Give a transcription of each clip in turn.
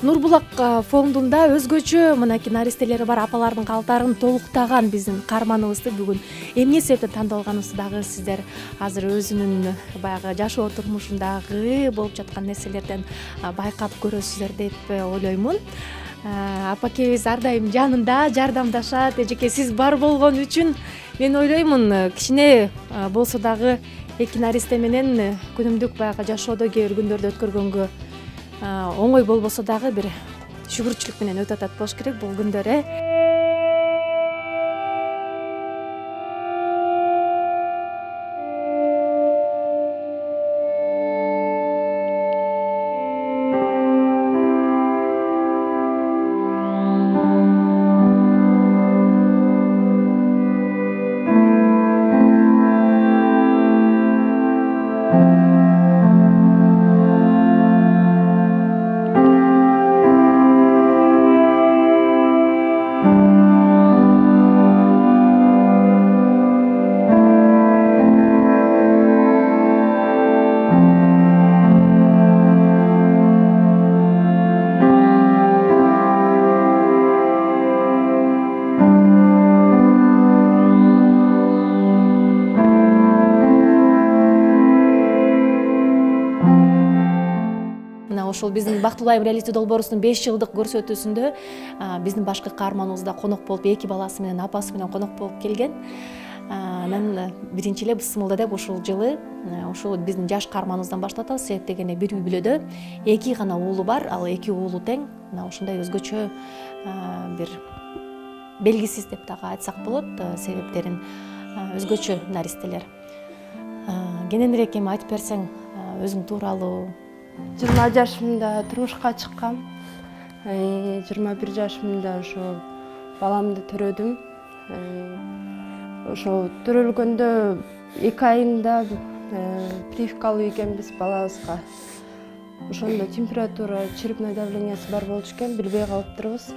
Нурбулак фондунда өзгөчө мынакей наристелери бар апалардын калтарын толуктаган биздин каарманыбызды бүгүн эмне себептен тандап алганыбызды дагы сиздер азыр өзүнүн баягы жашоо турмушундагы болуп жаткан нерселерден байкап көрөсүздөр деп ойлоймун. Апакебиз ар дайым жанында жардамдашат. Эжеке, сиз бар болгон үчүн мен ойлоймун кичине болсо дагы эки наристе менен күнүмдүк баягы жашоодо кээ бир күндөрдү өткөргөнгө оңой болбосо дагы бир шүгүрчүлүк менен өтүп атат болуш керек бул күндөр. Ошол биздин Бактылуу айым реалити долбоорубуздун 5 жылдык көрсөтүүсүндө биздин башкы каарманыбыз да конок болуп, эки баласы менен, апасы менен конок болуп келген. Анан биринчи эле бысмылда деп ушул жылы ушул биздин жаш каарманыбыздан баштап атабыз. Себеп дегенде бир үй бүлөдө эки гана уулу бар, ал эки уулу тең. Мына ушундай өзгөчө бир белгисиз деп дагы айтсак болот, себептерин өзгөчө наристелер. Кененирээк эми айтып берсең өзүң тууралуу. 20 жашымда турмушка чыккам. 21 жашымда ошо баламды төрөдүм. Ошо төрөлгөндө 2 айында прививка алып экенбиз балабызга. Ошондо температура, черепной давлениясы бар болчу экен, билбей калыптырбыз.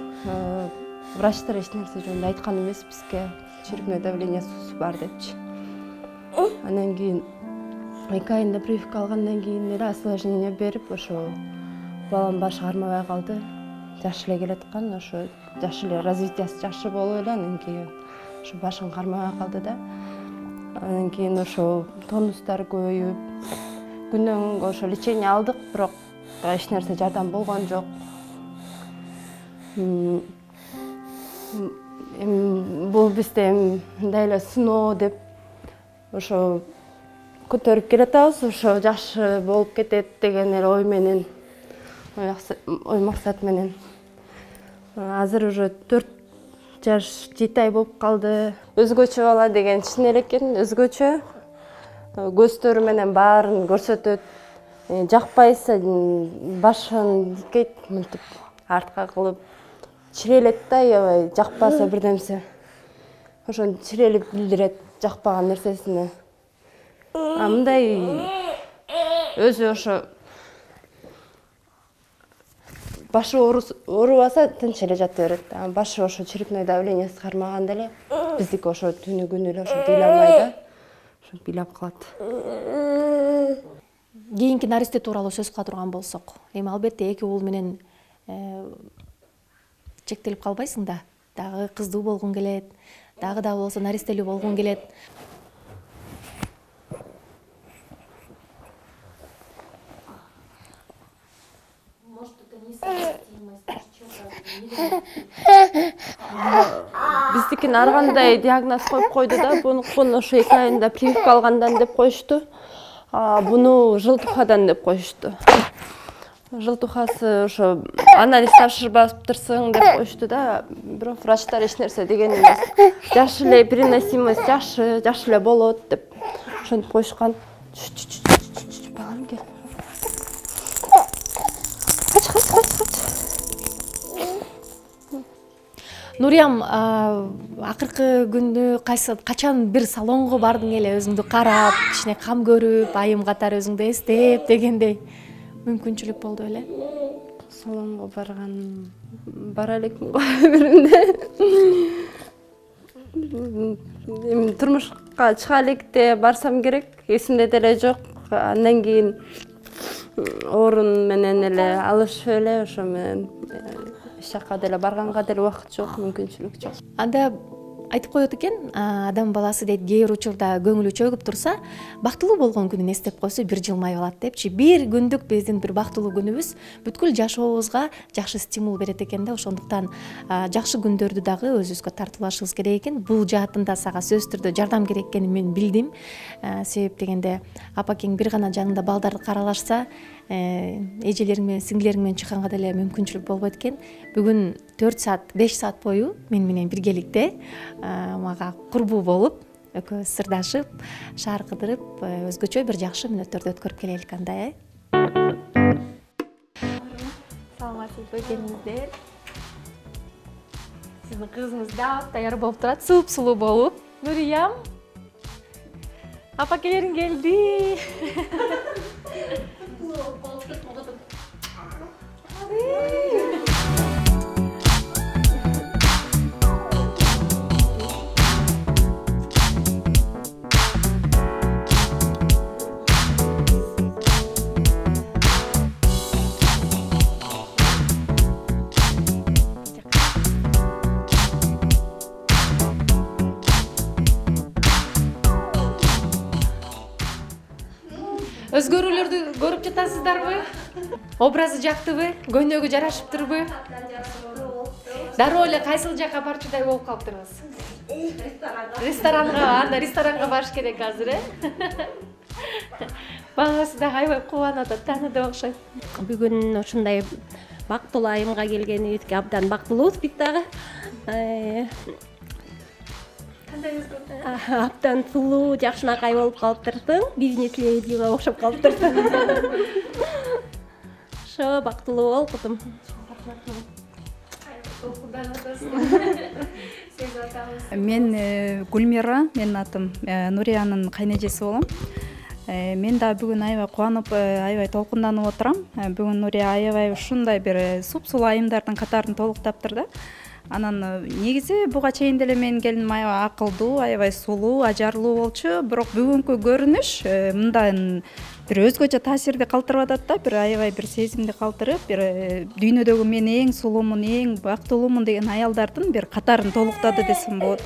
Врачтар эч нерсе жөнүндө айткан эмес бизге, черепной давлениясы бар депчи. Анан кийин 2 айында прививка алгандан кийин эле осложнение берип, ошо балам башы кармабай калды. Жаш эле келаткан, ошо жаш эле развитиясы жакшы болуп эле анан кийин ошо башын кармабай калды да. Анан кийин ошо тонустар көбөйүп, күндөн күнгө ошо лечение алдык, бирок эч нерсе жардам болгон жок. Бул бизде мындай эле сыноо деп ошо көтөрүп келатабыз, ошо жакшы болуп кетет деген эле ой менен, ой максат менен. Азыр уже 4 жаш 7 ай болуп калды. Өзгөчө бала деген чын эле экен, өзгөчө. Көздөрү менен баарын көрсөтөт. Жакпайса башын дикейт, мынтип артка кылып чирелет да, аябай жакпаса бирдемсе. Ошону чирелип билдирет жакпаган нерсесине. Мындай өзү ошо башы оорубаса тынч эле жата берет. Башы ошо черепной давлениясы кармаганда эле биздики ошо түнү күнү эле ошо ыйламай да, ошо ыйлап калат. Кийинки наристе тууралуу сөз кыла турган болсок, эми албетте эки уул менен чектелип калбайсың да. Дагы кыздуу болгуң келет, дагы да болсо наристелүү болгуң келет. Биздикин ар кандай диагноз коюп койду да, бунукун ошо 2 айында прививка алгандан деп коюшту. Буну жылтухадан деп коюшту. Жылтухасы ошо анализ тапшырбаптырсың деп коюшту да, бирок врачтар эч нерсе деген эмес. Жаш эле переносимость жакшы эле болот деп ошентип коюшкан. Балам кел. Нуриям, акыркы күндү качан бир салонго бардың эле, өзүңдү карап, кичине кам көрүп, айым катары өзүңдү эстеп дегендей мүмкүнчүлүк болду эле? Салонго бара элекмин го биринде. Эми турмушка чыга электе барсам керек, эсимде деле жок. Андан кийин орун менен эле алышып эле ошо менен эч жакка деле барганга деле убакыт жок, мүмкүнчүлүк жок. Анда айтып коет экен, адам баласы дейт кээ бир учурда көңүлү чөгүп турса, бактылуу болгон күнүн эстеп койсо бир жылмайып алат депчи. Бир күндүк биздин бир бактылуу күнүбүз бүткүл жашообузга жакшы стимул берет экен да. Ошондуктан жакшы күндөрдү дагы өзүбүзгө тартуулашыбыз керек экен. Бул жаатында сага сөзсүз түрдө жардам керек экенин мен билдим. Себеп дегенде апакең бир гана жанында балдарды каралашса, эжелериң менен сиңдилериң менен чыкканга деле мүмкүнчүлүк болбойт экен. Бүгүн 4 саат 5 саат бою мен менен биргеликте мага курбуу болуп, экөөбүз сырдашып, шаар кыдырып, өзгөчө бир жакшы мүнөттөрдү өткөрүп келелик андай. Саламатсызбы келиңиздер. Сиздин кызыңыз да даяр болуп турат, суп-сулуу болуп. Нуриям, апакелериң келди. Өзгөрүүлөрдү көрүп жатасыздарбы? Образы жактыбы? Көйнөгү жарашыптырбы? Дароо эле кайсыл жака барчудай болуп калыптырбыз? Ресторанга, анда ресторанга барыш керек азыр, Баласы да аябай кубанып атат, тааныды окшойт. Бүгүн ушундай бактылуу айымга келгенибизге абдан бактылуубуз биз дагы. Абдан сулуу, жакшынакай болуп калыптырсың. Бизнес ледиге окшоп калыптырсың. Ошо бактылуу бол кызым. Мен Гүлмира, менин атым Нуриянын кайнэжеси болом. Мен да бүгүн аябай кубанып, аябай толкунданып отурам. Бүгүн Нурия аябай ушундай бир суп-сулуу айымдардын катарын толуктаптыр да. Анан негизи буга чейин деле менин келиним аябай акылдуу, аябай сулуу, ажарлуу болчу, бирок бүгүнкү көрүнүш мындан бир өзгөчө таасирди калтырып атат да, бир аябай бир сезимди калтырып, бир дүйнөдөгү мен эң сулуумун, эң бактылуумун деген аялдардын бир катарын толуктады десем болот.